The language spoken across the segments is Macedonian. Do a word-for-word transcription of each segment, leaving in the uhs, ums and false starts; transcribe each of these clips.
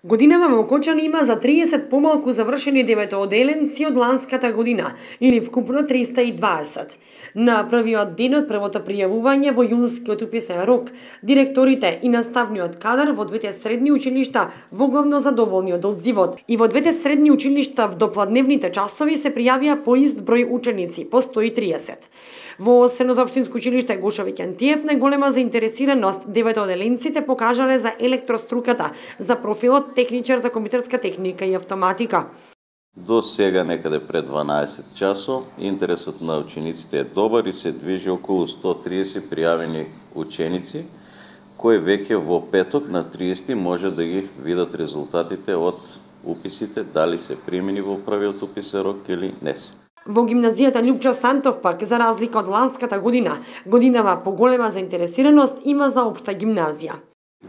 Годинава во Окочани има за триесет помалку завршени деветооделенци од ланската година, или вкупно триста и дваесет. На првиот ден од првото пријавување во јунскиот уписен рок, директорите и наставниот кадар во двете средни училишта во главно задоволни од одзивот. И во двете средни училишта в допладневните часови се пријавија по ист број ученици, по сто и триесет. Во Средното општинско училиште Гоша Викентиев најголема заинтересираност деветооделенците покажале за електроструката, за профилот техничар за компјутерска техника и автоматика. До сега некаде пред дванаесет часот интересот на учениците е добар и се движи околу сто триесет пријавени ученици, кои веќе во петок на триесети може да ги видат резултатите од уписите, дали се примени во првиот уписен рок или не се. Во гимназијата Љупчо Сантов пак, за разлика од ланската година, годинава поголема заинтересираност има за општа гимназија.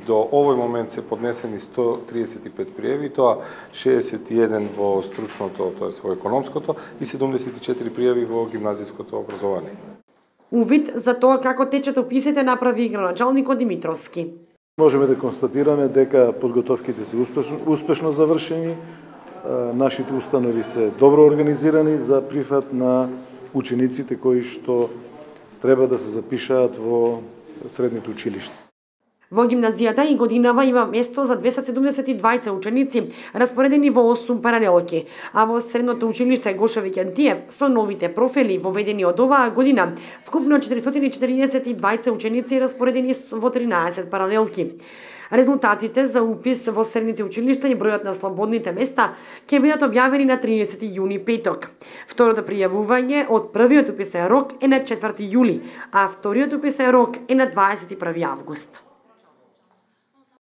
До овој момент се поднесени сто триесет и пет пријави, тоа шеесет и еден во стручното, тоа во економското и седумдесет и четири пријави во гимназиското образование. Увид за тоа како течат уписите направи градоначалникот Димитровски. Можеме да констатираме дека подготовките се успешно, успешно завршени. Нашите установи се добро организирани за прифат на учениците кои што треба да се запишаат во средните училишта. Во гимназијата и годинава има место за двеста седумдесет и дваица ученици, распоредени во осум паралелки, а во Средното училиште Гоша Викентиев со новите профили воведени од оваа година, вкупно четиристотини и четириесет и дваица ученици распоредени во тринаесет паралелки. Резултатите за упис во средните училишта и бројот на слободните места ќе бидат објавени на триесети јуни петок. Второто пријавување од првиот уписен рок е на четврти јули, а вториот уписен рок е на дваесет и први август.